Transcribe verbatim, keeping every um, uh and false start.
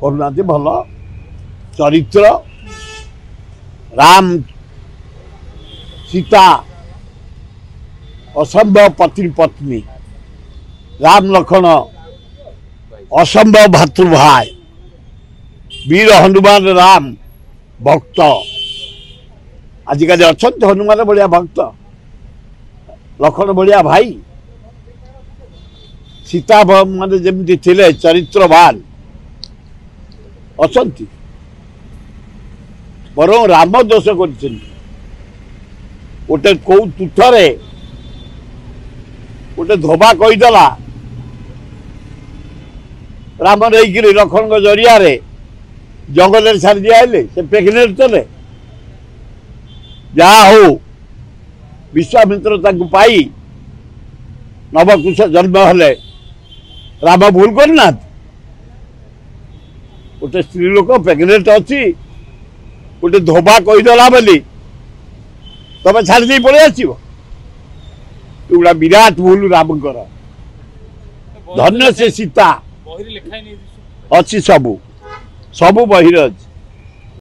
କରୁନାହାନ୍ତି। ଭଲ ଚରିତ୍ର ରାମ ସୀତା, ଅସମ୍ଭବ ପତ୍ନୀ ପତ୍ନୀ, ରାମ ଲକ୍ଷ୍ମଣ ଅସମ୍ଭବ ଭାତୃଭାଇ, ବୀର ହନୁମାନ ରାମ ଭକ୍ତ। ଆଜିକାଲି ଅଛନ୍ତି ହନୁମାନ ଭଳିଆ ଭକ୍ତ, ଲକ୍ଷ୍ମଣ ଭଳିଆ ଭାଇ? ସୀତା ମାନେ ଯେମିତି ଥିଲେ ଚରିତ୍ରବାନ ଅଛନ୍ତି? ବରଂ ରାମ ଦୋଷ କରିଛନ୍ତି। ଗୋଟେ କୋଉ ତୁଠରେ ଗୋଟେ ଧୋବା କହିଦେଲା, ରାମ ନେଇକିରି ଲକ୍ଷ୍ମଣଙ୍କ ଜରିଆରେ ଜଙ୍ଗଲରେ ଛାଡ଼ି ଦିଆହେଲେ, ସେ ପ୍ରେଗନେଣ୍ଟ ଥିଲେ। ଯାହା ହଉ, ବିଶ୍ୱାମିତ୍ର ତାଙ୍କୁ ପାଇ ନବକୁଶ ଜନ୍ମ ହେଲେ। ରାମ ଭୁଲ କରିନାହାନ୍ତି। ଗୋଟେ ସ୍ତ୍ରୀ ଲୋକ ପ୍ରେଗନେଣ୍ଟ ଅଛି, ଗୋଟେ ଧୋବା କହିଦେଲା ବୋଲି ତମେ ଛାଡ଼ି ଦେଇ ପଳେଇ ଆସିବ, ଏଗୁଡ଼ା ବିରାଟ ଭୁଲ ରାମଙ୍କର। ଧନ୍ୟ ସେ ସୀତା। ଅଛି, ସବୁ ସବୁ ବହିରେ ଅଛି।